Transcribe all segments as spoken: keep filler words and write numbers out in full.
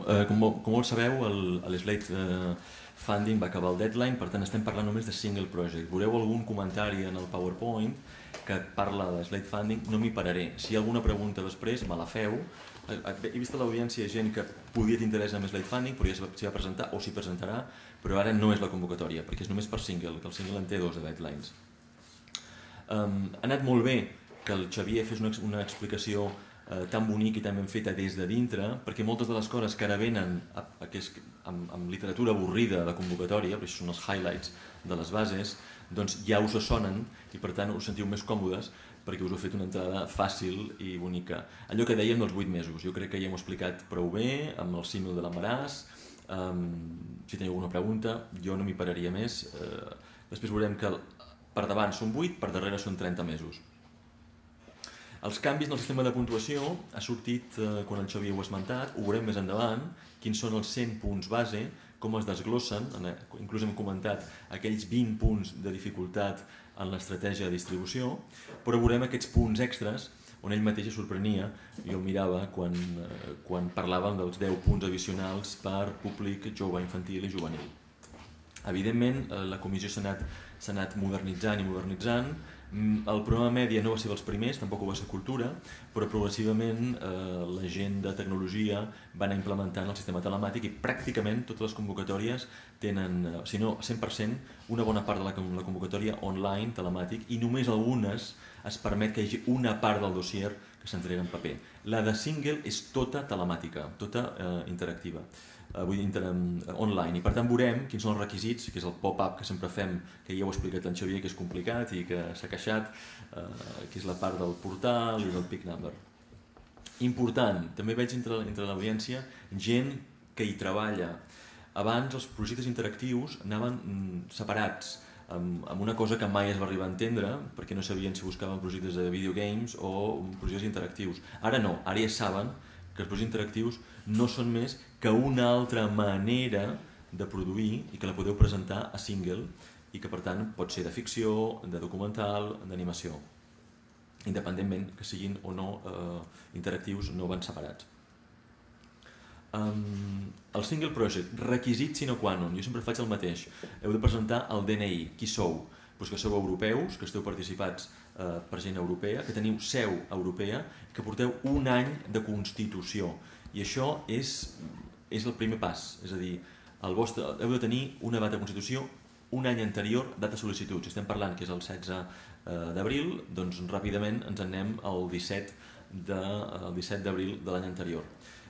com molts sabeu, l'Slate Funding va acabar el deadline, per tant estem parlant només de single project. Veureu algun comentari en el PowerPoint que parla de Slate Funding, no m'hi pararé. Si hi ha alguna pregunta després, me la feu. He vist a l'audiència gent que podia t'interessar amb Slate Funding, però ja s'hi va presentar o s'hi presentarà, però ara no és la convocatòria, perquè és només per single, que el single en té dos de deadlines. Ha anat molt bé que el Xavier fes una explicació tan bonica i tan ben feta des de dintre, perquè moltes de les coses que ara venen amb literatura avorrida de convocatòria, perquè són els highlights de les bases, doncs ja us sonen i per tant us sentiu més còmodes perquè us he fet una entrada fàcil i bonica. Allò que dèiem dels vuit mesos, jo crec que ja hem explicat prou bé amb el símil de l'embaràs. Si teniu alguna pregunta, jo no m'hi pararia més. Després veurem que per davant són vuit, per darrere són trenta mesos. Els canvis en el sistema de puntuació ha sortit quan el Xavier ho ha esmentat, ho veurem més endavant, quins són els cent punts base, com es desglossen, inclús hem comentat aquells vint punts de dificultat en l'estratègia de distribució, però veurem aquests punts extras on ell mateix es sorprenia, jo el mirava quan parlàvem dels deu punts addicionals per públic jove, infantil i juvenil. Evidentment, la comissió s'ha anat modernitzant i modernitzant. El programa Mèdia no va ser dels primers, tampoc ho va ser Cultura, però progressivament la gent de tecnologia va anar implementant el sistema telemàtic i pràcticament totes les convocatòries tenen, si no cent per cent, una bona part de la convocatòria online, telemàtic, i només algunes es permet que hi hagi una part del dossier que s'entrega en paper. La de single és tota telemàtica, tota interactiva. Vull dir, online, i per tant veurem quins són els requisits, que és el pop-up que sempre fem, que ja ho ha explicat en Xavier, que és complicat i que s'ha queixat, que és la part del portal i del peak number. Important, també veig entre l'audiència gent que hi treballa. Abans els projectes interactius anaven separats, amb una cosa que mai es va arribar a entendre, perquè no sabien si buscaven projectes de videogames o projectes interactius. Ara no, ara ja saben que els projectes interactius no són més que una altra manera de produir i que la podeu presentar a single i que per tant pot ser de ficció, de documental, d'animació. Independentment que siguin o no interactius, no van separats. El single project, requisit sine qua non, jo sempre faig el mateix. Heu de presentar el D N I, qui sou? Que sou europeus, que esteu participats per gent europea, que teniu seu europea, que porteu un any de constitució. I això és el primer pas, és a dir, heu de tenir una data de constitució un any anterior, data de sol·licitud. Si estem parlant que és el setze d'abril, doncs ràpidament ens anem al disset d'abril de l'any anterior.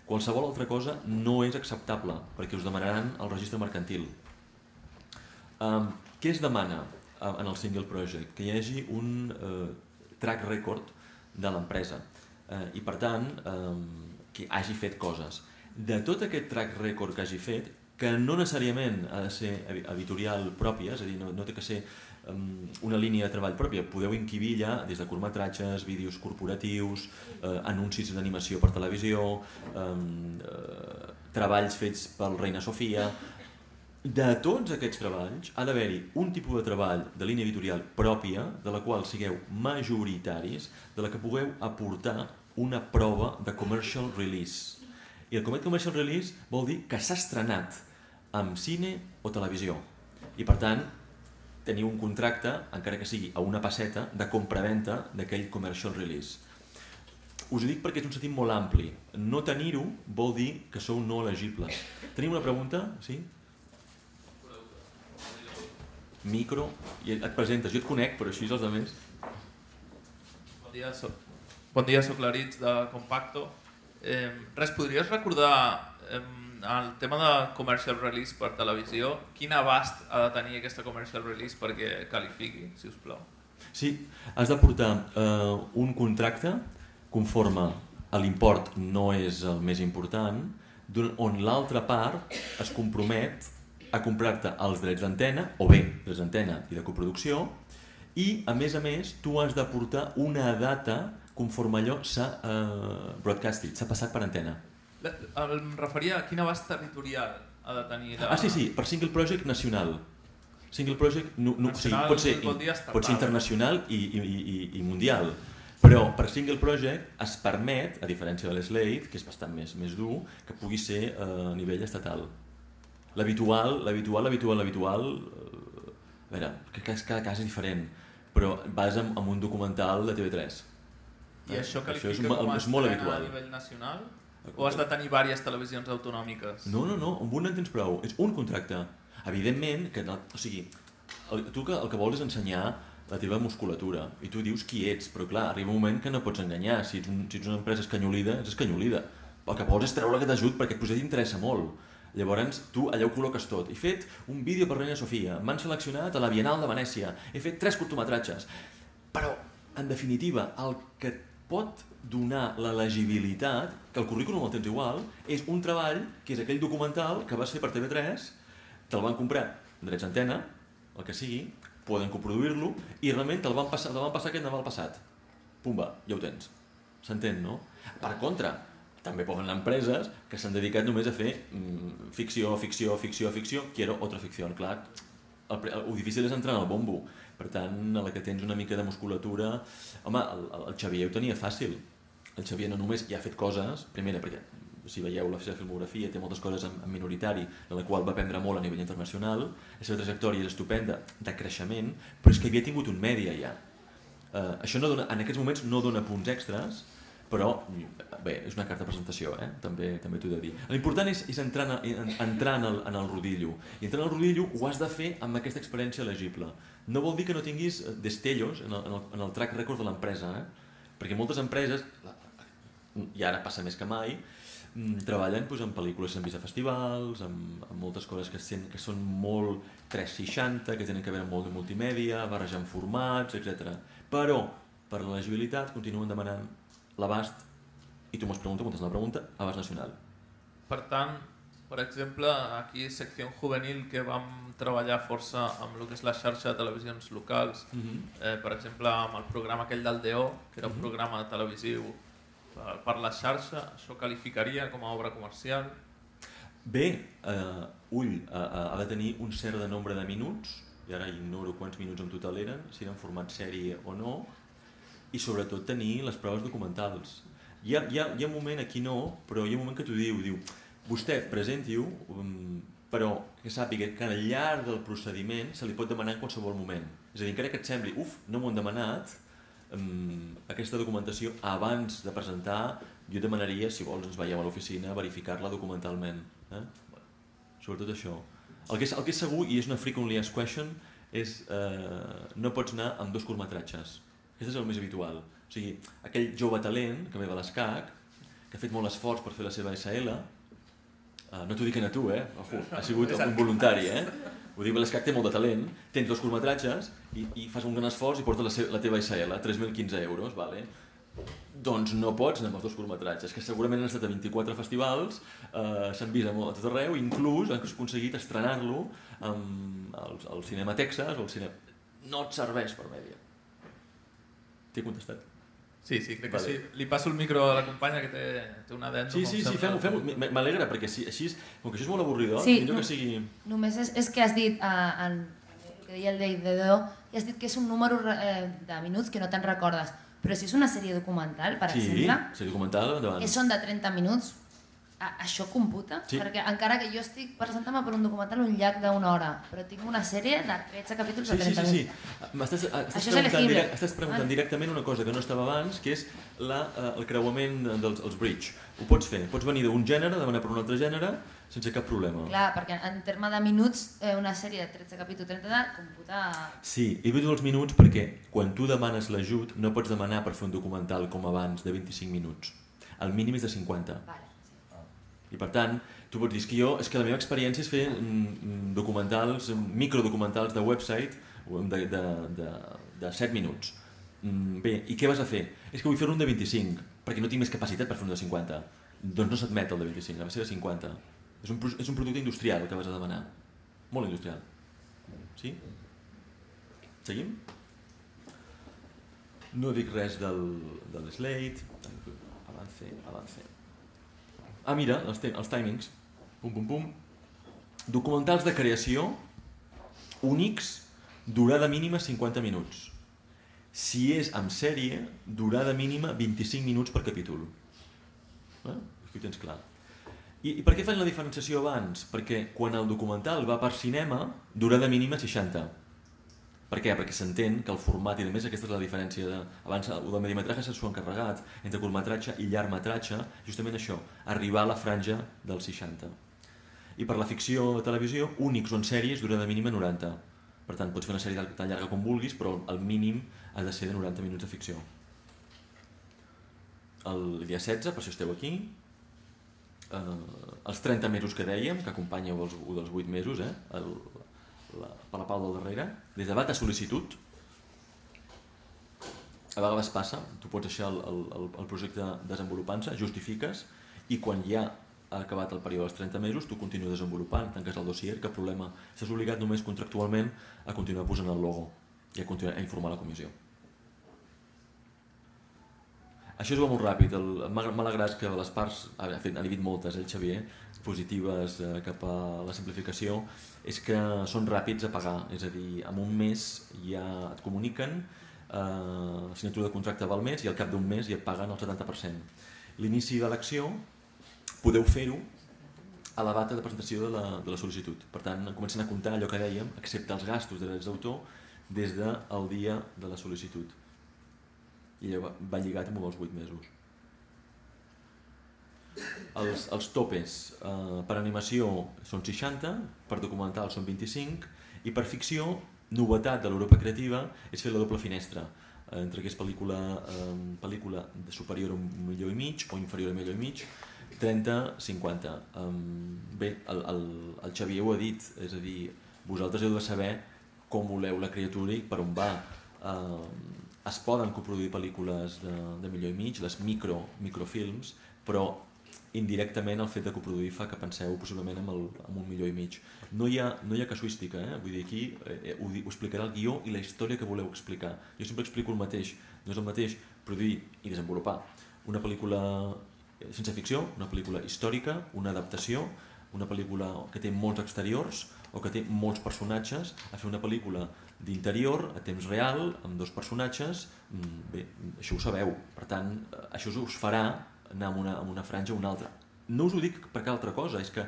Qualsevol altra cosa no és acceptable, perquè us demanaran el registre mercantil. Què es demana en el single project? Que hi hagi un track record de l'empresa i per tant que hagi fet coses. De tot aquest track record que hagi fet, que no necessàriament ha de ser editorial pròpia, és a dir, no té que ser una línia de treball pròpia, podeu inquibir ja des de curtmetratges, vídeos corporatius, anuncis d'animació per televisió, treballs fets pel Reina Sofia. De tots aquests treballs ha d'haver-hi un tipus de treball de línia editorial pròpia, de la qual sigueu majoritaris, de la que pugueu aportar una prova de commercial release. I el commercial release vol dir que s'ha estrenat amb cine o televisió. I per tant, teniu un contracte, encara que sigui a una passeta, de compra-venta d'aquell commercial release. Us ho dic perquè és un sentit molt ampli. No tenir-ho vol dir que sou no elegibles. Tenim una pregunta? Sí? Micro, i et presentes, jo et conec, però així els altres. Bon dia, bon dia, soc l'Aritz de Compacto. Res, podries recordar el tema de commercial release per televisió? Quin abast ha de tenir aquesta commercial release perquè qualifiqui, si us plau? Sí, has de portar un contracte conforme a l'import no és el més important, on l'altra part es compromet a comprar-te els drets d'antena, o bé, drets d'antena i de coproducció, i, a més a més, tu has de portar una data conforme allò s'ha broadcasted, s'ha passat per antena. Em referia a quin abast territorial ha de tenir... Ah, sí, sí, per single project nacional. Single project pot ser internacional i mundial. Però per single project es permet, a diferència de l'Slate, que és bastant més, més dur, que pugui ser a nivell estatal. L'habitual, l'habitual, l'habitual, l'habitual... A veure, que cada cas és diferent, però vas amb, amb un documental de T V tres. I eh? això qualifica això és, com a és molt estrena habitual. A nivell nacional? O has de tenir diverses televisions autonòmiques? No, no, no, amb un en tens prou, és un contracte. Evidentment, que no, o sigui, el, tu que, el que vols és ensenyar la teva musculatura i tu dius qui ets, però clar, arriba un moment que no pots enganyar. Si ets, un, si ets una empresa escanyolida, ets escanyolida. El que vols és treure aquest ajut perquè et projecte t'interessa molt. Llavors tu allà ho col·loques tot. He fet un vídeo per Reina Sofia, m'han seleccionat a la Bienal de Venècia, he fet tres curtmetratges. Però, en definitiva, el que et pot donar l'elegibilitat, que el currículum el tens igual, és un treball que és aquell documental que vas fer per T V tres, te'l van comprar drets d'antena, el que sigui, poden coproduir-lo i realment te'l van passar, te'l van passar aquest Nadal passat. Pumba, ja ho tens. S'entén, no? Per contra, també poden anar empreses que s'han dedicat només a fer mm, ficció, ficció, ficció, ficció, quiero otra ficció. Clar, el, el, el difícil és entrar en el bombo. Per tant, a la que tens una mica de musculatura... Home, el, el Xavier ho tenia fàcil. El Xavier no només ja ha fet coses, primera, perquè si veieu la seva filmografia té moltes coses en, en minoritari, de la qual va aprendre molt a nivell internacional, la seva trajectòria és estupenda, de creixement, però és que havia tingut un mèdia ja. Uh, això no dona, en aquests moments no dona punts extras, però bé, és una carta de presentació, eh? també, també t'ho he de dir. L'important és, és entrar, en, entrar en, el, en el rodillo, i entrar en el rodillo ho has de fer amb aquesta experiència elegible. No vol dir que no tinguis destellos en el, en el, en el track record de l'empresa, eh? Perquè moltes empreses, i ara passa més que mai, treballen doncs, en pel·lícules que s'han vist a festivals, amb, amb moltes coses que, sen, que són molt tres seixanta, que tenen que veure amb molt de multimèdia, barrejant formats, etcètera. Però, per l'elegibilitat, continuen demanant l'abast, i tu m'has preguntat, contestant la pregunta, abast nacional. Per tant, per exemple, aquí Secció Juvenil, que vam treballar força amb el que és la xarxa de televisions locals, uh-huh. eh, per exemple, amb el programa aquell del D O, que era un uh-huh. programa televisiu per la xarxa, això qualificaria com a obra comercial? Bé, uh, ull, uh, uh, ha de tenir un cert de nombre de minuts, i ara ignoro quants minuts en total eren, si eren format sèrie o no, i sobretot tenir les proves documentals. Hi ha, hi ha, hi ha un moment, aquí no, però hi ha un moment que t'ho diu, diu, vostè presenti-ho, um, però que sàpiga que al llarg del procediment se li pot demanar en qualsevol moment. És a dir, encara que et sembli, uf, no m'ho han demanat, um, aquesta documentació abans de presentar, jo demanaria, si vols ens veieu a l'oficina, verificar-la documentalment. Eh? Sobretot això. El que, és, el que és segur, i és una frequently asked question, és eh, no pots anar amb dos curtmetratges. Aquest és el més habitual. O sigui, aquell jove talent que ve de l'ESCAC, que ha fet molt esforç per fer la seva S L, eh, no t'ho dic a tu, eh? Ojo, ha sigut un voluntari, eh? Ho dic, l'ESCAC té molt de talent, tens dos curtmetratges i, i fas un gran esforç i portes la, seva, la teva S L, tres mil quinze euros, vale? Doncs no pots anar amb els dos curtmetratges, que segurament han estat a vint-i-quatre festivals, eh, s'han vist a tot arreu, inclús han aconseguit estrenar-lo al, al Cinema Texas o al cinema... No et serveix per mèdia. T'he contestat? Sí, sí, crec vale. que sí. Li passo el micro a la companya que té, té una dent. Sí, sí, sí, fem-ho, fem-ho. M'alegra, perquè si, així, com que això és molt avorridor, sí, millor no, que sigui... Només és, és que has dit, uh, en, que deia el Dave de Do, i has dit que és un número eh, de minuts que no te'n recordes. Però si és una sèrie documental, per sí, exemple, sí, sèrie documental, endavant. Que són de trenta minuts, a, això computa? Sí. Perquè encara que jo estic presentant-me per un documental un llarg d'una hora, però tinc una sèrie de tretze capítols sí, de trenta sí, sí, minuts. Sí, sí. M'estàs això és elegible. Direct, estàs preguntant ah. directament una cosa que no estava abans, que és la, uh, el creuament dels els bridge. Ho pots fer, pots venir d'un gènere, demanar per un altre gènere, sense cap problema. Clar, perquè en terme de minuts, eh, una sèrie de tretze capítols, trenta, computa... Sí, he dit els minuts perquè quan tu demanes l'ajut no pots demanar per fer un documental com abans de vint-i-cinc minuts. El mínim és de cinquanta. Vale. I per tant, tu pots dir que jo, és que la meva experiència és fer mm, documentals, microdocumentals de website de, de, de, de set minuts. Mm, bé, i què vas a fer? És que vull fer un de vint-i-cinc, perquè no tinc més capacitat per fer un de cinquanta. Doncs no s'admet el de vint-i-cinc, ha de ser de cinquanta. És un, és un producte industrial que vas a demanar. Molt industrial. Sí? Seguim? No dic res del, de l'Slate. Avance, avance. Ah, mira, els, els timings. Pum, pum, pum. Documentals de creació, únics, durada mínima cinquanta minuts. Si és amb sèrie, durada mínima vint-i-cinc minuts per capítol. Eh? Aquí ho tens clar. I, I per què fan la diferenciació abans? Perquè quan el documental va per cinema, durada mínima seixanta. Per què? Perquè s'entén que el format, i a més aquesta és la diferència de... Abans el de medimetratge s'ha encarregat entre curtmetratge i llargmetratge, justament això, arribar a la franja dels seixanta. I per la ficció de televisió, únics o en sèries, durada mínima noranta. Per tant, pots fer una sèrie tan llarga com vulguis, però el mínim ha de ser de noranta minuts de ficció. El dia setze, per si esteu aquí, eh, els trenta mesos que dèiem, que acompanyeu els, dels vuit mesos, eh, el, la, per la pau del darrere, des de data sol·licitud, a vegades passa, tu pots deixar el, el, el projecte desenvolupant-se, justifiques, i quan ja ha acabat el període dels trenta mesos, tu continues desenvolupant, tanques el dossier, cap problema. Estàs obligat només contractualment a continuar posant el logo i a continuar a informar la comissió. Això es va molt ràpid. M'ha alegrat que les parts, ha dit moltes, el Xavier, positives cap a la simplificació, és que són ràpids a pagar. És a dir, en un mes ja et comuniquen, la signatura de contracte val més i al cap d'un mes ja et paguen el setanta per cent. L'inici de l'acció podeu fer-ho a la data de presentació de la, de la sol·licitud. Per tant, comencen a comptar allò que dèiem, excepte els gastos de drets d'autor, des del dia de la sol·licitud. I allò va lligat amb els vuit mesos. Els, els topes eh, per animació són seixanta, per documental són vint-i-cinc, i per ficció, novetat de l'Europa Creativa, és fer la doble finestra, eh, entre que és pel·lícula, eh, pel·lícula superior a un milió i mig o inferior a un milió i mig, trenta cinquanta. Bé, el, el, el Xavier ho ha dit, és a dir, vosaltres heu de saber com voleu la criatura i per on va. Es poden coproduir pel·lícules de, de milió i mig, les micro, microfilms, però indirectament el fet de coproduir fa que penseu possiblement amb, el, amb un milió i mig. No hi ha, no hi ha casuística, eh? Vull dir, aquí eh, ho, ho explicarà el guió i la història que voleu explicar. Jo sempre explico el mateix, no és el mateix produir i desenvolupar una pel·lícula ciència ficció, una pel·lícula històrica, una adaptació, una pel·lícula que té molts exteriors o que té molts personatges, a fer una pel·lícula d'interior a temps real, amb dos personatges. Bé, això ho sabeu, per tant, això us farà anar amb una, amb una franja o una altra. No us ho dic per cap altra cosa, és que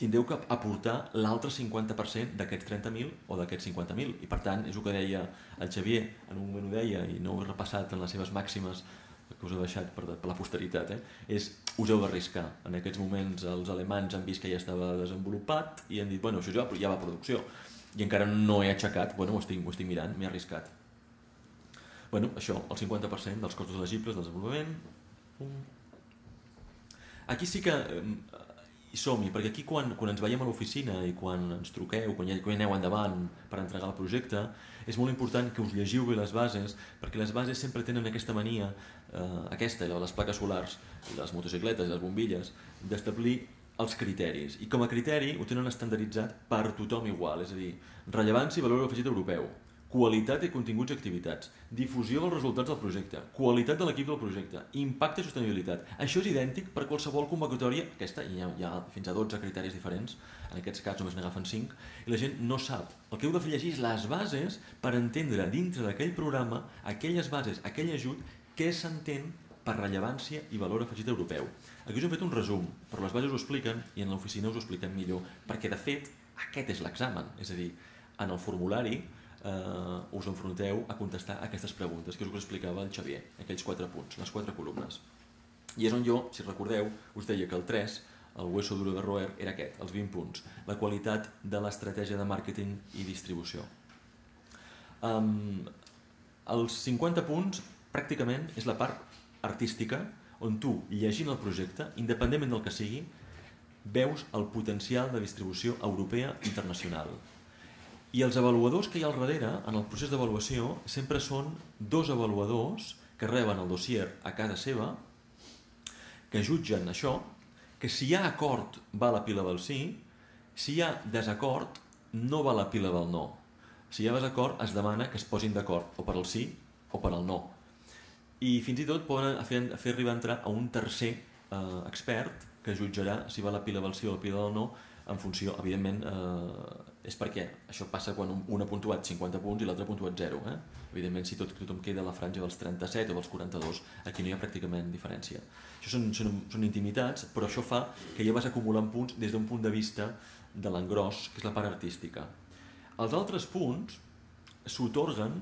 tindreu que aportar l'altre cinquanta per cent d'aquests trenta mil o d'aquests cinquanta mil, i per tant, és el que deia el Xavier, en un moment ho deia i no ho he repassat en les seves màximes que us he deixat per, per la posteritat, eh? És us heu d'arriscar. En aquests moments els alemans han vist que ja estava desenvolupat i han dit, bueno, això ja, ja va a producció, i encara no he aixecat, bueno, ho estic, ho estic mirant, m'he arriscat. Bueno, això, el cinquanta per cent dels costos elegibles del desenvolupament. Aquí sí que hi som-hi, perquè aquí quan, quan ens veiem a l'oficina i quan ens truqueu, quan ja, quan ja aneu endavant per entregar el projecte, és molt important que us llegiu bé les bases, perquè les bases sempre tenen aquesta mania, eh, aquesta, les plaques solars, les motocicletes i les bombilles, d'establir els criteris. I com a criteri ho tenen estandarditzat per tothom igual, és a dir, rellevància i valor afegit europeu, qualitat i continguts i activitats, difusió dels resultats del projecte, qualitat de l'equip del projecte, impacte i sostenibilitat. Això és idèntic per qualsevol convocatòria, aquesta, hi ha, hi ha fins a dotze criteris diferents, en aquests casos només n'agafen cinc, i la gent no sap. El que heu de fer llegir és les bases per entendre dintre d'aquell programa, aquelles bases, aquell ajut, què s'entén per rellevància i valor afegit europeu. Aquí us hem fet un resum, però les bases ho expliquen i en l'oficina us ho expliquen millor, perquè de fet aquest és l'examen, és a dir, en el formulari Uh, us enfronteu a contestar aquestes preguntes que us explicava el Xavier, aquells quatre punts, les quatre columnes. I és on jo, si recordeu, us deia que el tres, el hueso duro de roer, era aquest, els vint punts, la qualitat de l'estratègia de màrqueting i distribució. Um, els cinquanta punts, pràcticament, és la part artística, on tu, llegint el projecte, independentment del que sigui, veus el potencial de distribució europea internacional. I els avaluadors que hi ha al darrere, en el procés d'avaluació, sempre són dos avaluadors que reben el dossier a casa seva, que jutgen això, que si hi ha acord va a la pila del sí, si hi ha desacord no va a la pila del no. Si hi ha desacord es demana que es posin d'acord o per al sí o per al no. I fins i tot poden fer, fer arribar a entrar a un tercer eh, expert que jutjarà si va a la pila del sí o a la pila del no en funció, evidentment, eh, és perquè això passa quan un ha puntuat cinquanta punts i l'altre ha puntuat zero. Eh? Evidentment, si tot, tothom queda a la franja dels trenta-set o dels quaranta-dos, aquí no hi ha pràcticament diferència. Això són, són, són intimitats, però això fa que ja vas acumulant punts des d'un punt de vista de l'engròs, que és la part artística. Els altres punts s'otorguen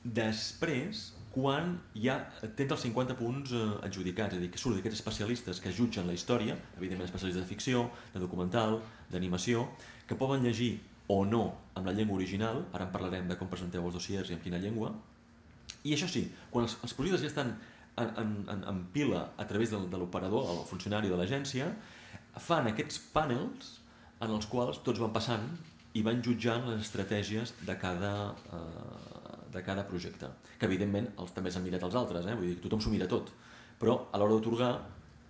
després quan ja tens els cinquanta punts adjudicats, és a dir, que surt d'aquests especialistes que jutgen la història, evidentment especialistes de ficció, de documental, d'animació, que poden llegir o no amb la llengua original, ara en parlarem de com presenteu els dossiers i en quina llengua, i això sí, quan els, els projectes ja estan en, en, en pila a través de, de l'operador, el funcionari de l'agència, fan aquests panels en els quals tots van passant i van jutjant les estratègies de cada, eh, de cada projecte, que evidentment els, també s'han mirat els altres, eh? Vull dir que tothom s'ho mira tot, però a l'hora d'atorgar,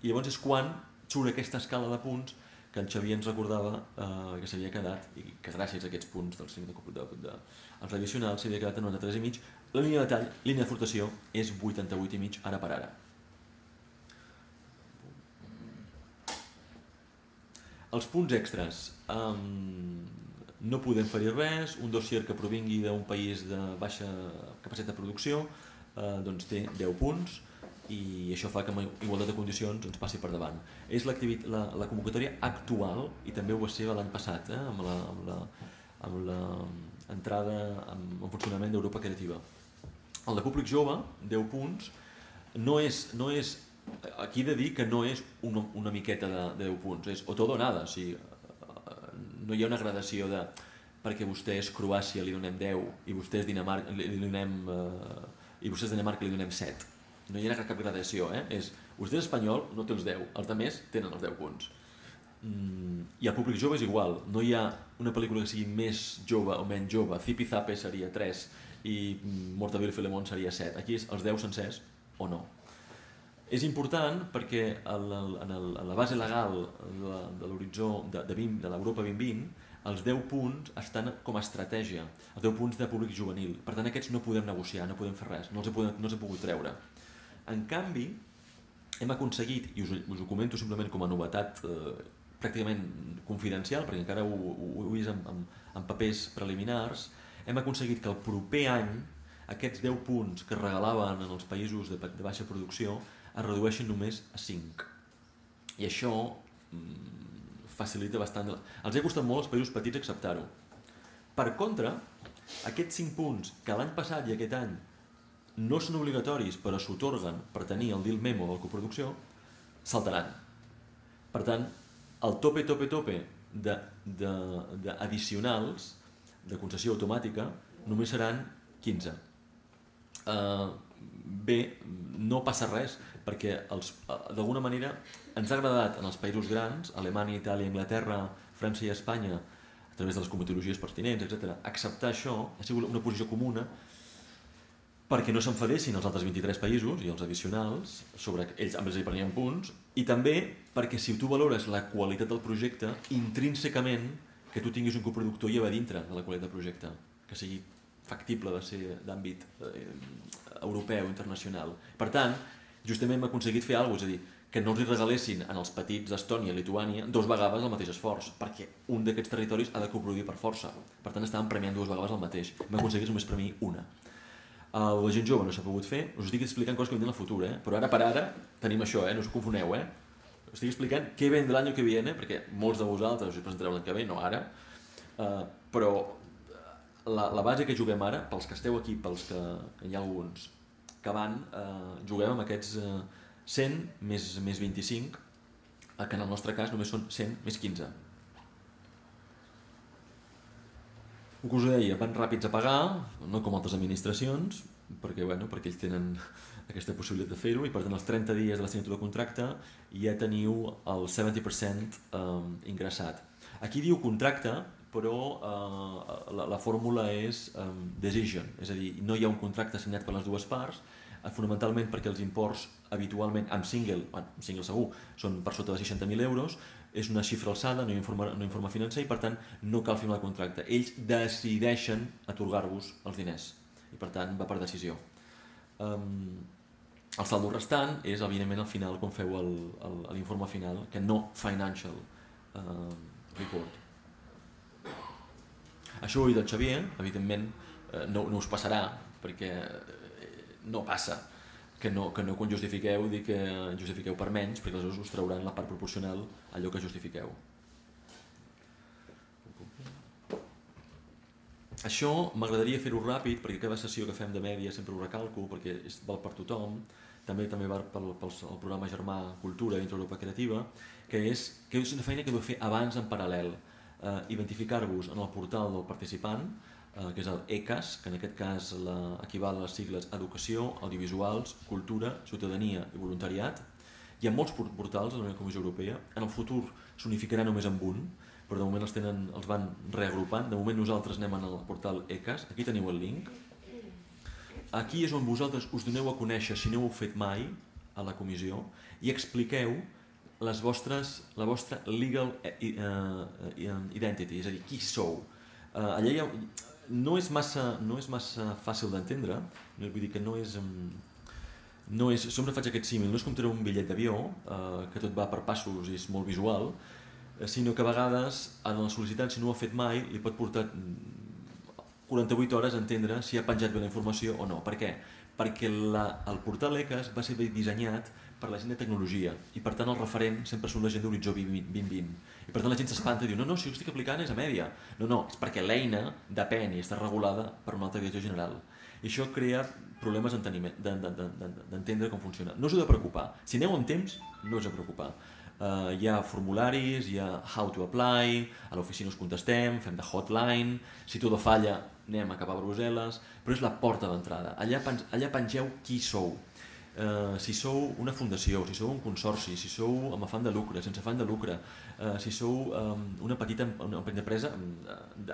i llavors és quan surt aquesta escala de punts que el Xavier ens recordava eh, que s'havia quedat, i que gràcies a aquests punts dels cinc de, de, de, els tradicionals s'havia quedat en noranta-tres i mig. La línia de tall, línia de flotació, és vuitanta-vuit i mig ara per ara. Els punts extras. Um, no podem fer-hi res, un dossier que provingui d'un país de baixa capacitat de producció eh, doncs té deu punts, i això fa que amb igualtat de condicions ens passi per davant. És la, la convocatòria actual, i també ho va ser l'any passat, eh, amb la, amb la, amb la entrada en, en funcionament d'Europa Creativa. El de públic jove, deu punts, no és, no és, aquí he de dir que no és una, una miqueta de, de deu punts, és o tot o nada, o sigui, no hi ha una gradació de perquè vostè és Croàcia li donem deu i vostè és Dinamarca li donem eh, i vostè és Dinamarca li donem set. No hi ha cap gradació, eh? És, vostè és espanyol, no té els deu, els altres tenen els deu punts. Mm, I el públic jove és igual, no hi ha una pel·lícula que sigui més jove o menys jove, Zipi Zape seria tres i Mortadelo i Filemón seria set, aquí és els deu sencers o no. És important perquè el, el, en, el, en la base legal de, de l'horitzó de, de, de l'Europa vint vint, els deu punts estan com a estratègia, els deu punts de públic juvenil. Per tant, aquests no podem negociar, no podem fer res, no els he, podem, no els he pogut treure. En canvi, hem aconseguit, i us, us ho comento simplement com a novetat eh, pràcticament confidencial, perquè encara ho, ho, ho he vist en, en, en papers preliminars, hem aconseguit que el proper any aquests deu punts que es regalaven en els països de, de baixa producció es redueixen només a cinc. I això mm, facilita bastant. Els ha costat molt als països petits acceptar-ho. Per contra, aquests cinc punts que l'any passat i aquest any no són obligatoris però s'otorguen per tenir el deal memo de la coproducció, saltaran. Per tant, el tope, tope, tope d'addicionals de, de, de concessió automàtica només seran quinze. Uh, bé, no passa res, perquè d'alguna manera ens ha agradat en els països grans, Alemanya, Itàlia, Anglaterra, França i Espanya, a través de les comitologies pertinents, etcètera, acceptar això ha sigut una posició comuna perquè no s'enfadessin els altres vint-i-tres països i els addicionals, sobre ells amb ells hi prenien punts, i també perquè si tu valores la qualitat del projecte, intrínsecament que tu tinguis un coproductor ja va dintre de la qualitat del projecte, que sigui factible de ser d'àmbit eh, europeu, internacional. Per tant, justament hem aconseguit fer alguna cosa, és a dir, que no els regalessin en els petits d'Estònia i Lituània dos vegades el mateix esforç, perquè un d'aquests territoris ha de coproduir per força. Per tant, estàvem premiant dues vegades el mateix. Hem aconseguit només premiar una. Uh, la gent jove no s'ha pogut fer, us estic explicant coses que vindran al futur, eh? Però ara per ara tenim això, eh? No us confoneu, eh? Us estic explicant què vendrà l'any que viene, perquè molts de vosaltres us presentareu l'any que ve, no ara, uh, però la, la base que juguem ara, pels que esteu aquí, pels que, que hi ha alguns que van, uh, juguem amb aquests uh, cent més, més vint-i-cinc, que en el nostre cas només són cent més quinze. El que us deia, van ràpids a pagar, no com altres administracions, perquè, bueno, perquè ells tenen aquesta possibilitat de fer-ho, i per tant els trenta dies de la signatura de contracte ja teniu el setanta per cent eh, ingressat. Aquí diu contracte, però eh, la, la fórmula és eh, decision, és a dir, no hi ha un contracte signat per les dues parts, eh, fonamentalment perquè els imports habitualment amb single, bueno, amb single segur, són per sota de seixanta mil euros, és una xifra alçada, no hi ha informe, no hi ha informe financer, i per tant no cal firmar el contracte. Ells decideixen atorgar-vos els diners, i per tant va per decisió. Um, el saldo restant és evidentment al final quan feu l'informe final, que no financial uh, report. Això ho ha dit el Xavier, evidentment no, no us passarà, perquè no passa que no, que no quan justifiqueu dir que justifiqueu per menys, perquè aleshores us trauran la part proporcional a allò que justifiqueu. Això m'agradaria fer-ho ràpid, perquè cada sessió que fem de mèdia sempre ho recalco, perquè és, val per tothom, també també val pel, pel el programa Germà Cultura dintre Europa Creativa, que és, que és una feina que heu de fer abans en paral·lel. Eh, identificar-vos en el portal del participant, eh, que és el E C A S, que en aquest cas la, equival a les sigles Educació, Audiovisuals, Cultura, Ciutadania i Voluntariat. Hi ha molts portals de la Comissió Europea, en el futur s'unificarà només amb un, però de moment els, tenen, els van reagrupant. De moment nosaltres anem al portal E C A S, aquí teniu el link. Aquí és on vosaltres us doneu a conèixer, si no ho heu fet mai, a la comissió, i expliqueu les vostres, la vostra legal identity, és a dir, qui sou. Allà hi ha, no, és massa, no és massa fàcil d'entendre, vull dir que no és... No és, sempre faig aquest símil, no és com treure un bitllet d'avió, eh, que tot va per passos i és molt visual, sinó que a vegades en el sol·licitant, si no ho ha fet mai, li pot portar quaranta-vuit hores a entendre si ha penjat bé la informació o no. Per què? Perquè la, el portal E C A S va ser dissenyat per la gent de tecnologia i per tant el referent sempre són la gent d'Horitzó vint vint. I per tant la gent s'espanta i diu no, no, si jo estic aplicant és a mèdia. No, no, és perquè l'eina depèn i està regulada per un altre director general. I això crea problemes d'entendre com funciona. No us heu de preocupar. Si aneu amb temps, no us heu de preocupar. Uh, hi ha formularis, hi ha how to apply, a l'oficina us contestem, fem de hotline, si tot falla anem a cap a Brussel·les, però és la porta d'entrada. Allà, allà pengeu qui sou. Uh, si sou una fundació, si sou un consorci, si sou amb afany de lucre, sense afany de lucre, uh, si sou um, una petita una petita empresa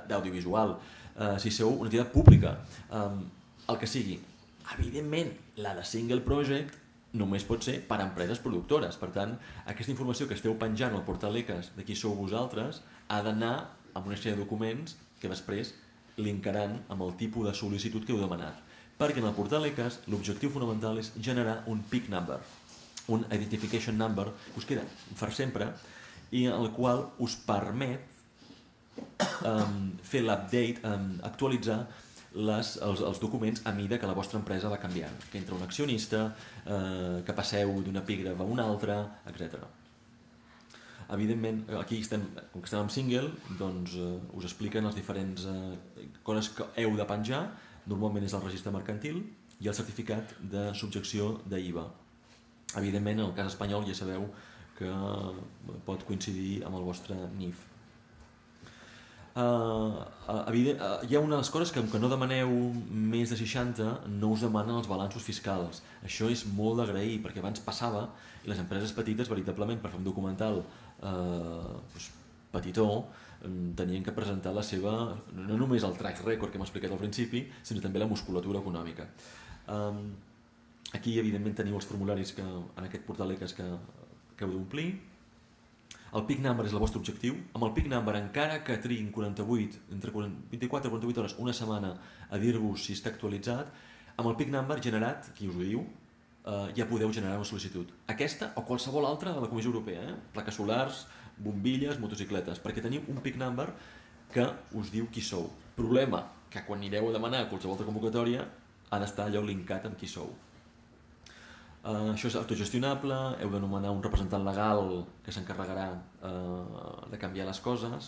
d'audiovisual, uh, si sou una entitat pública, um, el que sigui. Evidentment, la de single project només pot ser per a empreses productores. Per tant, aquesta informació que esteu penjant al portal E C A S de qui sou vosaltres ha d'anar amb una sèrie de documents que després linkaran amb el tipus de sol·licitud que heu demanat. Perquè en el portal E C A S l'objectiu fonamental és generar un P I C number, un Identification Number, que us queda per sempre i el qual us permet um, fer l'update, um, actualitzar les, els, els documents a mida que la vostra empresa va canviant, que entra un accionista, eh, que passeu d'un epígraf a un altre, etcètera. Evidentment, aquí estem, com que estem en single, doncs eh, us expliquen les diferents eh, coses que heu de penjar. Normalment és el registre mercantil i el certificat de subjecció d'I V A. Evidentment, en el cas espanyol ja sabeu que pot coincidir amb el vostre N I F. Uh, uh, evident, uh, hi ha unes coses que, que no demaneu més de seixanta, no us demanen els balanços fiscals. Això és molt d'agrair, perquè abans passava i les empreses petites, veritablement, per fer un documental uh, doncs, petitó, tenien que presentar la seva, no només el track record que hem explicat al principi, sinó també la musculatura econòmica. Um, aquí, evidentment, teniu els formularis que, en aquest portal E C A S que, que heu d'omplir. El P I C number és el vostre objectiu. Amb el P I C number, encara que triguin quaranta-vuit, entre vint-i-quatre i quaranta-vuit hores, una setmana, a dir-vos si està actualitzat, amb el P I C number generat, qui us ho diu, eh, ja podeu generar una sol·licitud. Aquesta o qualsevol altra de la Comissió Europea, eh? Plaques solars, bombilles, motocicletes, perquè teniu un P I C number que us diu qui sou. Problema, que quan anireu a demanar qualsevol altra convocatòria ha d'estar allò linkat amb qui sou. Uh, això és autogestionable, heu de nomenar un representant legal que s'encarregarà uh, de canviar les coses.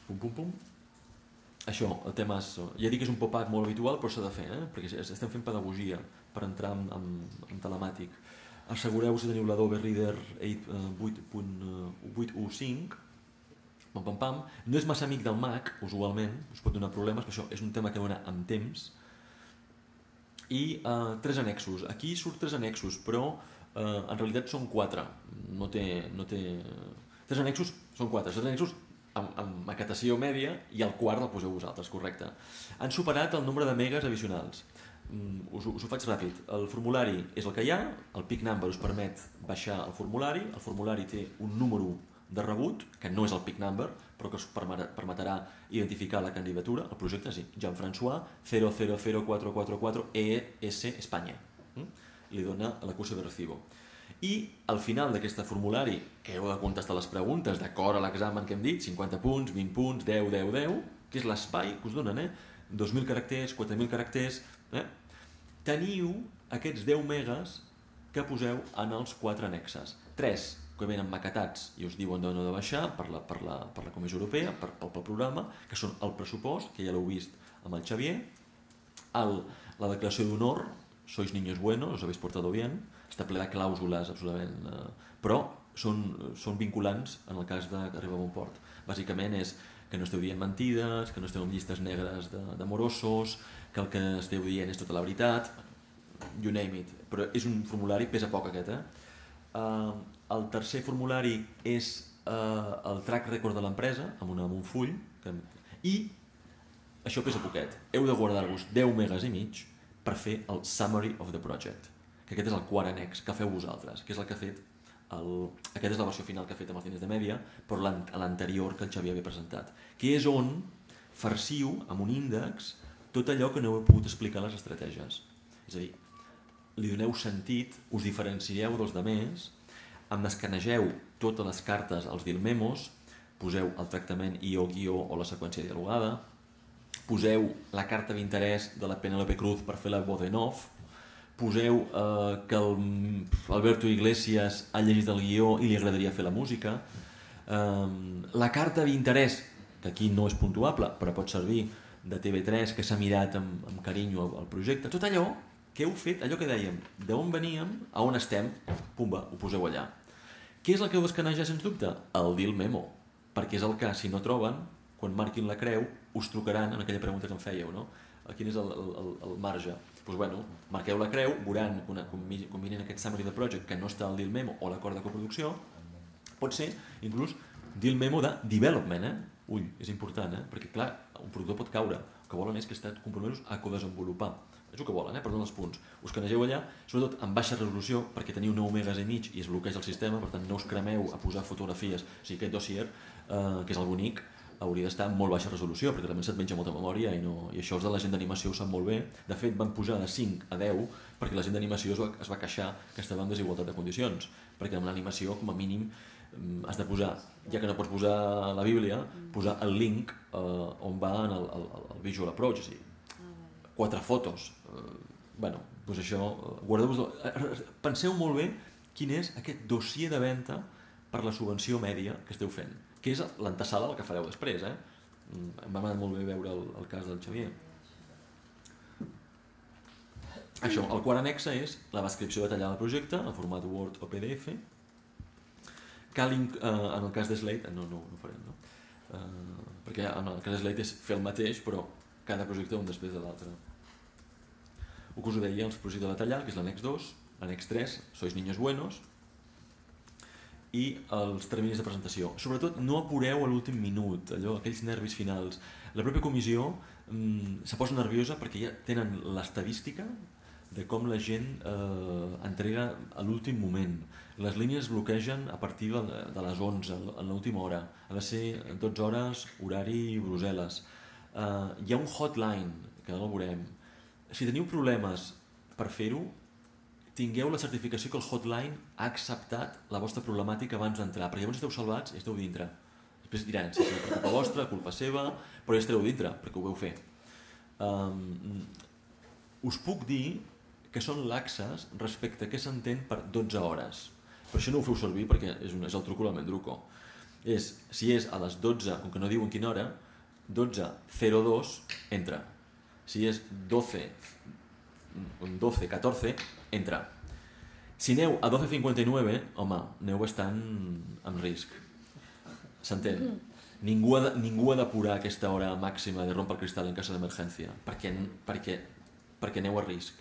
Pum, pum, pum. Això, el tema és... Ja dic que és un pop-up molt habitual, però s'ha de fer, eh? Perquè estem fent pedagogia per entrar en, en, en telemàtic. Assegureu si teniu l'Adobe Reader vuit punt quinze. Pam, pam, pam. No és massa amic del Mac, usualment, us pot donar problemes, però això és un tema que dona amb temps. I uh, tres annexos. Aquí surt tres annexos, però uh, en realitat són quatre. No té, no té... Tres annexos són quatre. Tres annexos amb, amb maquetació mèdia i el quart el poseu vosaltres, correcte. Han superat el nombre de megas addicionals. Mm, us, us ho faig ràpid. El formulari és el que hi ha, el P I C number us permet baixar el formulari, el formulari té un número de rebut, que no és el P I C number, però que us permetrà identificar la candidatura. El projecte sí, Jean-François zero zero zero quatre quatre quatre E S Espanya. Li dona l'acuse de recibo. I al final d'aquest formulari, que heu de contestar les preguntes d'acord a l'examen que hem dit, cinquanta punts, vint punts, deu, deu, deu, que és l'espai que us donen, eh? dos mil caràcters, quatre mil caràcters, eh? Teniu aquests deu megas que poseu en els quatre annexes. tres que venen maquetats i us diuen d'on heu de baixar per la, per la, per la Comissió Europea, per, pel, pel programa, que són el pressupost, que ja l'heu vist amb el Xavier, el, la declaració d'honor, sois niños buenos, os habéis portado bien, està ple de clàusules absolutament, eh, però són, són vinculants en el cas d'arribar a bon port. Bàsicament és que no esteu dient mentides, que no esteu en llistes negres de, de morosos, que el que esteu dient és tota la veritat, you name it. Però és un formulari, pesa poc aquest, eh? Uh, el tercer formulari és uh, el track record de l'empresa, amb, amb un full, que, i això pesa poquet. Heu de guardar-vos deu megas i mig per fer el Summary of the Project, que aquest és el quart annex que feu vosaltres, que és el que ha fet, el... aquesta és la versió final que ha fet amb els diners de Mèdia, però l'anterior que el Xavier havia presentat, que és on farciu amb un índex tot allò que no heu pogut explicar a les estratègies. És a dir, li doneu sentit, us diferencieu dels demés, em escanegeu totes les cartes als deal memos, poseu el tractament I O-guió o la seqüència dialogada, poseu la carta d'interès de la Penélope Cruz per fer la voz en off, poseu eh, que el Alberto Iglesias ha llegit el guió i li agradaria fer la música, eh, la carta d'interès, que aquí no és puntuable, però pot servir de T V tres, que s'ha mirat amb, amb carinyo el projecte, tot allò que heu fet, allò que dèiem, d'on veníem, a on estem, pumba, ho poseu allà. Què és el que heu d'escanejar, sens dubte? El deal memo, perquè és el que, si no troben, quan marquin la creu, us trucaran en aquella pregunta que em fèieu, no? Quin és el, el, el marge? Doncs, bueno, marqueu la creu, veuran, quan mirin aquest Summary de Project, que no està al deal memo o l'acord de coproducció, pot ser, inclús, deal memo de development, eh? Ull, és important, eh? Perquè, clar, un productor pot caure. El que volen és que esteu compromesos a codesenvolupar. És el que volen, eh? Perdó els punts. Us canegeu allà, sobretot en baixa resolució, perquè teniu nou megas i mig i es bloqueja el sistema, per tant no us cremeu a posar fotografies. O sigui, aquest dossier, eh, que és el bonic, hauria d'estar en molt baixa resolució, perquè realment se't menja molta memòria i, no... I això els de la gent d'animació ho sap molt bé. De fet, van pujar de cinc a deu perquè la gent d'animació es, va... es va queixar que estava en desigualtat de condicions, perquè en l'animació, com a mínim, has de posar, ja que no pots posar la Bíblia, posar el link eh, on va en el, el, el visual approach, o sigui, quatre fotos. Eh, bueno, doncs això, guardeu-vos... Penseu molt bé quin és aquest dossier de venda per la subvenció mèdia que esteu fent, que és l'antesala del que fareu després, eh? Em va anar molt bé veure el, el cas del Xavier. Això, el quart annexe és la descripció detallada del projecte en format Word o P D F. Cal, eh, en el cas de Slate, no, no, no ho farem, no? Eh, perquè en el cas de Slate és fer el mateix, però cada projecte un després de l'altre. El que us ho deia, els projectes detallats, que és l'annex dos, l'annex tres, sois niños buenos, i els terminis de presentació. Sobretot no apureu a l'últim minut, allò, aquells nervis finals. La pròpia comissió mm, se posa nerviosa perquè ja tenen l'estadística de com la gent eh, entrega a l'últim moment. Les línies es bloquegen a partir de les onze, a l'última hora. Ha de ser dotze hores, horari Brussel·les. Eh, hi ha un hotline, que no el veurem. Si teniu problemes per fer-ho, tingueu la certificació que el hotline ha acceptat la vostra problemàtica abans d'entrar, perquè llavors esteu salvats i esteu dintre. Després diran, si és per culpa vostra, culpa seva, però ja estareu dintre, perquè ho veu fer. Um, us puc dir que són laxes respecte a què s'entén per dotze hores. Per això no ho feu servir, perquè és, un, és el truco del Mendruco. És, si és a les dotze, com que no diuen quina hora, dotze zero dos, entra. Si és dotze, dotze catorze, entra. Si aneu a dotze cinquanta i nueve, home, aneu bastant en risc. S'entén? Ningú ha, de, ningú ha d'apurar aquesta hora màxima de rompre el cristal en cas d'emergència, perquè, perquè, perquè aneu a risc.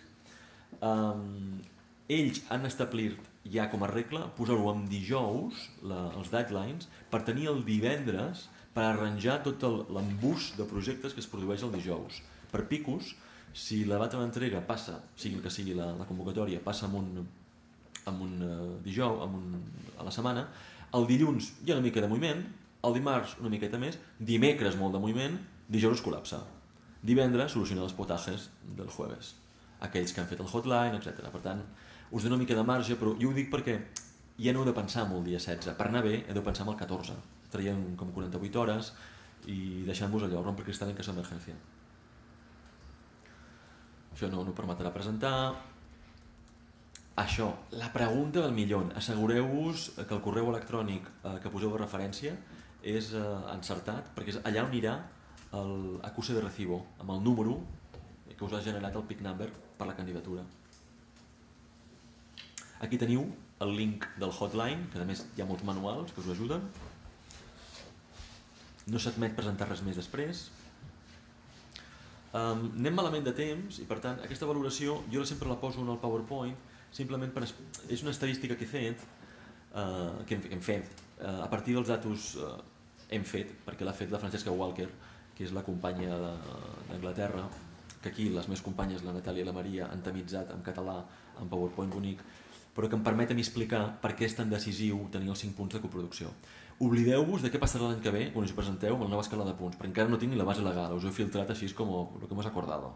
Um, ells han establert ja com a regla posar-ho en dijous, la, els deadlines, per tenir el divendres per arranjar tot l'embús de projectes que es produeix el dijous. Per picos, si la data d'entrega passa, sigui el que sigui la, la convocatòria, passa en un, en un uh, dijous, en un, a la setmana, el dilluns hi ha una mica de moviment, el dimarts una miqueta més, dimecres molt de moviment, dijous es col·lapsa. Divendres solucionar els potajes del jueves, aquells que han fet el hotline, etcètera. Per tant, us dono una mica de marge, però jo ho dic perquè ja no heu de pensar en el dia setze. Per anar bé, heu de pensar en el catorze. Traiem com quaranta-vuit hores i deixant-vos allò, romper cristal en cas d'emergència. Això no, no permetrà presentar. Això, la pregunta del milió. Assegureu-vos que el correu electrònic eh, que poseu de referència és eh, encertat, perquè és allà on anirà el acuse de recibo, amb el número que us ha generat el P I C number per la candidatura. Aquí teniu el link del hotline, que a més hi ha molts manuals que us ajuden. No s'admet presentar res més després. Um, anem malament de temps i per tant aquesta valoració jo sempre la poso en el PowerPoint simplement per... és una estadística que he fet, uh, que hem, hem fet uh, a partir dels datos uh, hem fet, perquè l'ha fet la Francesca Walker, que és la companya d'Anglaterra, que aquí les meves companyes, la Natàlia i la Maria, han tamitzat en català en PowerPoint bonic, però que em permet a mi explicar per què és tan decisiu tenir els cinc punts de coproducció. Oblideu-vos de què passarà l'any que ve quan us hi presenteu amb la nova escala de punts, perquè encara no tinc ni la base legal, us ho he filtrat així com el que hemos acordado.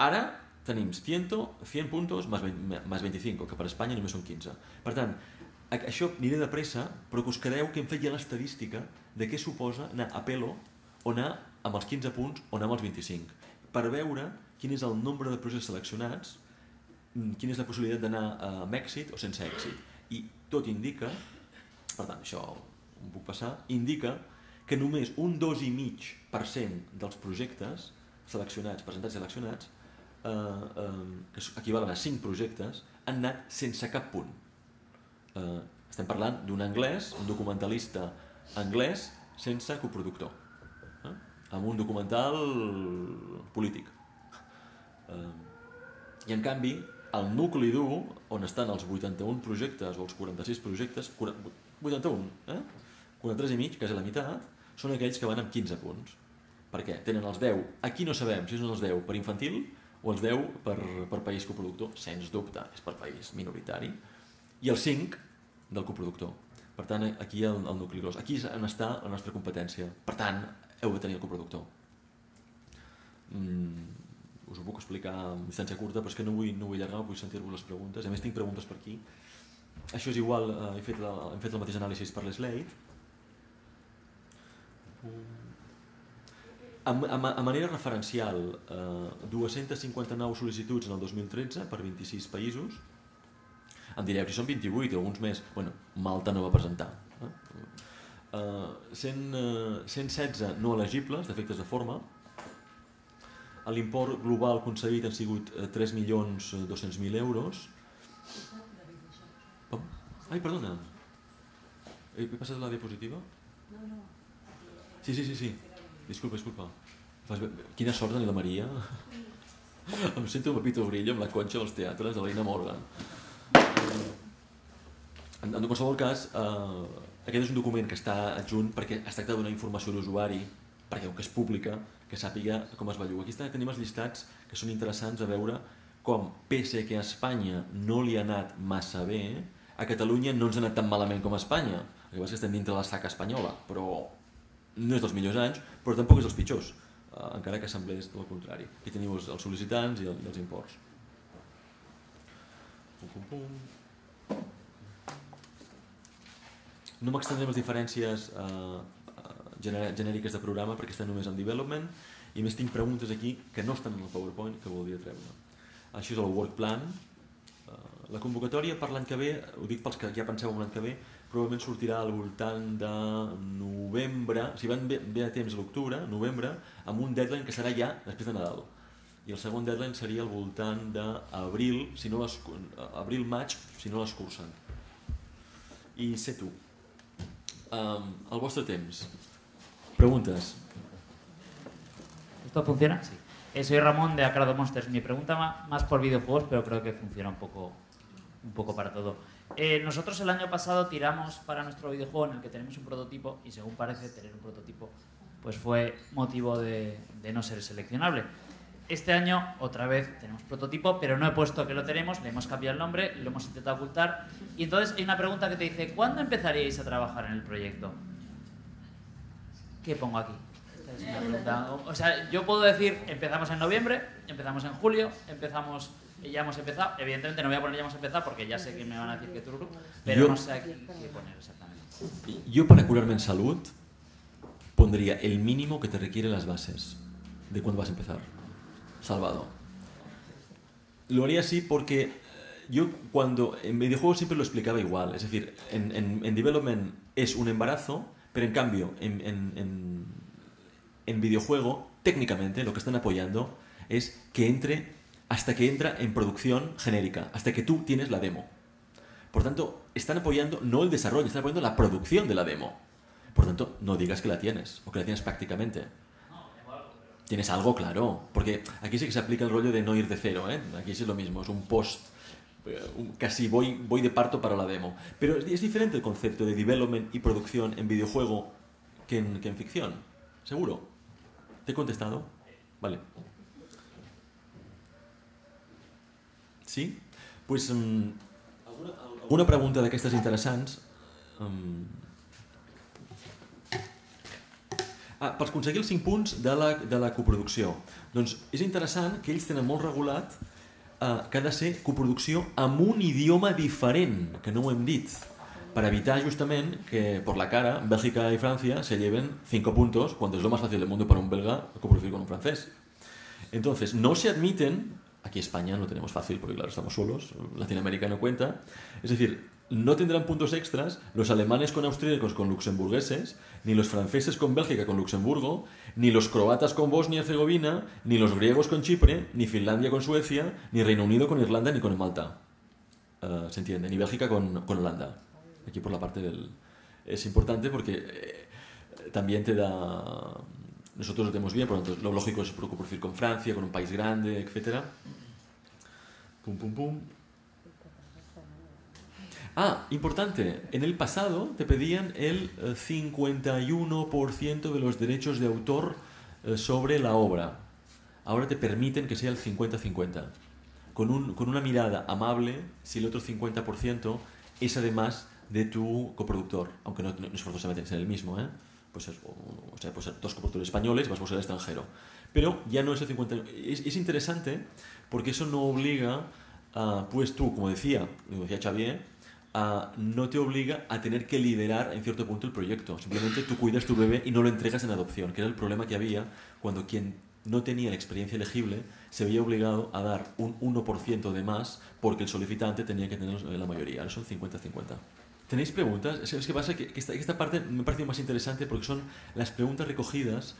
Ara tenim cent, cent puntos más veinticinco, que per Espanya només són quinze. Per tant, això aniré de pressa, però que us quedeu que hem fet ja l'estadística de què suposa anar a pelo o anar amb els quinze punts o anar amb els vint-i-cinc, per veure quin és el nombre de processos seleccionats, quina és la possibilitat d'anar amb èxit o sense èxit. I tot indica, per tant, això ho puc passar, indica que només un dos coma cinc per cent dels projectes seleccionats, presentats i seleccionats, eh, eh, que equivalen a cinc projectes, han anat sense cap punt. Eh, estem parlant d'un anglès, un documentalista anglès sense coproductor, eh? Amb un documental polític. Eh, I en canvi, el nucli dur, on estan els vuitanta-un projectes o els quaranta-sis projectes, vuitanta-un, eh? quaranta-tres i mig, quasi la meitat, són aquells que van amb quinze punts. Per què? Tenen els deu, aquí no sabem si són els deu per infantil o els deu per, per país coproductor, sens dubte, és per país minoritari, i els cinc del coproductor. Per tant, aquí hi ha el, el nucli gros. Aquí és on està la nostra competència. Per tant, heu de tenir el coproductor. Mm, us ho puc explicar en distància curta, però és que no vull, no vull allargar, vull sentir-vos les preguntes. A més, tinc preguntes per aquí. Això és igual, eh, he, fet la, hem fet el mateix anàlisi per l'Slate. A, a, a manera referencial, eh, dues-centes cinquanta-nou sol·licituds en el dos mil tretze per vint-i-sis països. Em direu, si són vint-i-vuit o alguns més, bueno, Malta no va presentar. Eh? Uh, cent, uh, cent setze no elegibles, defectes de forma. L'import global concedit han sigut uh, tres milions dos-cents mil euros. Oh. Ai, perdona. He, he passat la diapositiva? No, no. Sí, sí, sí, sí. Disculpa, disculpa. Quina sort tenir la Maria. Em sento un Pepito Grillo amb la conxa dels teatres de l'Eina Morgan. En, en qualsevol cas, eh, aquest és un document que està adjunt perquè es tracta d'una informació a l'usuari, perquè que és pública, que sàpiga com es belluga. Aquí tenim els llistats que són interessants a veure com, pese que a Espanya no li ha anat massa bé, a Catalunya no ens ha anat tan malament com a Espanya. El que passa és que estem dintre de la saca espanyola, però no és dels millors anys, però tampoc és dels pitjors, eh, encara que semblés tot el contrari. Aquí teniu els, els sol·licitants i, el, i els imports. Pum, pum, pum. No m'extendré les diferències eh, genèriques de programa perquè estan només en development i més tinc preguntes aquí que no estan en el PowerPoint que voldria treure. Això és el work plan. Eh, la convocatòria per l'any que ve, ho dic pels que ja penseu en l'any que ve, probablement sortirà al voltant de novembre, si van bé, bé a temps a l'octubre, novembre, amb un deadline que serà ja després de Nadal. I el segon deadline seria al voltant d'abril, si no les, abril-maig, si no l'escurcen. I sé tu. Um, el vostre temps. Preguntes. ¿Esto funciona? Sí. Eh, soy Ramón de Acrado Monsters. Mi pregunta más por videojuegos, pero creo que funciona un poco, un poco para todo. Eh, nosotros el año pasado tiramos para nuestro videojuego en el que tenemos un prototipo y según parece tener un prototipo pues fue motivo de, de no ser seleccionable. Este año otra vez tenemos prototipo, pero no he puesto que lo tenemos, le hemos cambiado el nombre, lo hemos intentado ocultar. Y entonces hay una pregunta que te dice, ¿cuándo empezaríais a trabajar en el proyecto? ¿Qué pongo aquí? Esta es una pregunta. O sea, yo puedo decir, empezamos en noviembre, empezamos en julio, empezamos ya hemos empezado. Evidentemente no voy a poner ya hemos empezado porque ya sé que me van a decir que tururu, pero yo, no sé aquí qué poner exactamente. Yo para curarme en salud pondría el mínimo que te requiere las bases de cuándo vas a empezar. Salvado. Lo haría así porque yo cuando en videojuegos siempre lo explicaba igual. Es decir, en, en, en development es un embarazo, pero en cambio en, en, en, en videojuego técnicamente lo que están apoyando es que entre hasta que entra en producción genérica, hasta que tú tienes la demo. Por tanto, están apoyando no el desarrollo, están apoyando la producción de la demo. Por tanto, no digas que la tienes, o que la tienes prácticamente. Tienes algo, claro, porque aquí sí que se aplica el rollo de no ir de cero, ¿eh? Aquí sí es lo mismo, es un post, un, casi voy, voy de parto para la demo. Pero es, es diferente el concepto de development y producción en videojuego que en, que en ficción, ¿seguro? ¿Te he contestado? Vale. Sí? Pues, um, alguna, alguna pregunta d'aquestes interessants? Um, Ah, per aconseguir els cinc punts de la, de la coproducció. Doncs és interessant que ells tenen molt regulat eh, que ha de ser coproducció amb un idioma diferent, que no ho hem dit, para evitar justament que por la cara Bélgica y Francia se lleven cinco puntos cuando es lo más fácil del mundo para un belga coproducir con un francés. Entonces, no se admiten, aquí España no tenemos fácil porque claro, estamos solos, Latinoamérica no cuenta, es decir, no tendrán puntos extras los alemanes con austríacos con luxemburgueses, ni los franceses con Bélgica con Luxemburgo, ni los croatas con Bosnia y Herzegovina, ni los griegos con Chipre, ni Finlandia con Suecia, ni Reino Unido con Irlanda ni con Malta. Uh, ¿Se entiende? Ni Bélgica con, con Holanda. Aquí por la parte del... Es importante porque eh, también te da... Nosotros lo tenemos bien, por lo tanto lo lógico es coproducir con Francia, con un país grande, etcétera. Pum, pum, pum. Ah, importante, en el pasado te pedían el cincuenta y uno por ciento de los derechos de autor sobre la obra. Ahora te permiten que sea el cincuenta cincuenta. Con, un, con una mirada amable, si el otro cincuenta por ciento es además de tu coproductor, aunque no, no es forzosamente ser el mismo, ¿eh? Pues es, o sea, pues ser dos coproductores españoles, vas a ser extranjero. Pero ya no es el cincuenta. Es, es interesante porque eso no obliga a, pues tú, como decía, como decía Xavier, Uh, no te obliga a tener que liderar en cierto punto el proyecto. Simplemente tú cuidas tu bebé y no lo entregas en adopción, que era el problema que había cuando quien no tenía la experiencia elegible se veía obligado a dar un uno por ciento de más porque el solicitante tenía que tener la mayoría. Ahora son cincuenta cincuenta. ¿Tenéis preguntas? Es que pasa que esta, esta parte me parece más interesante porque son las preguntas recogidas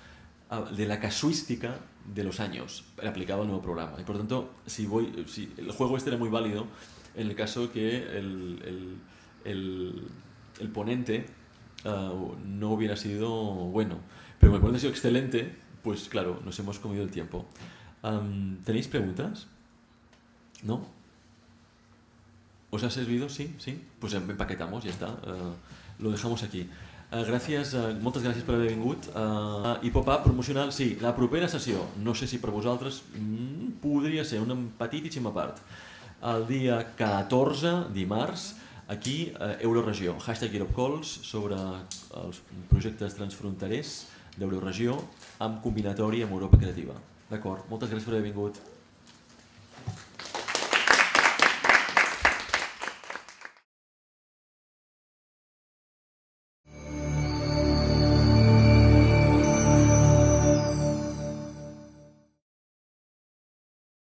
uh, de la casuística de los años aplicado al nuevo programa. Y por tanto, si, voy, si el juego este era muy válido en el caso que el, el, el, el ponente uh, no hubiera sido bueno. Pero como el ponente ha sido excelente, pues claro, nos hemos comido el tiempo. Um, ¿Tenéis preguntas? ¿No? ¿Os ha servido? Sí, sí. Pues empaquetamos, ya está. Uh, lo dejamos aquí. Uh, gràcies, uh, moltes gràcies per haver vingut. Uh, I pop-up promocional, sí. La propera sessió, no sé si per vosaltres, mm, podria ser una petitíssima part. El dia catorze, dimarts, aquí, eh, Euroregió, hashtag EuropeCalls, sobre els projectes transfronterers d'Euroregió amb combinatori amb Europa Creativa. D'acord, moltes gràcies per haver vingut.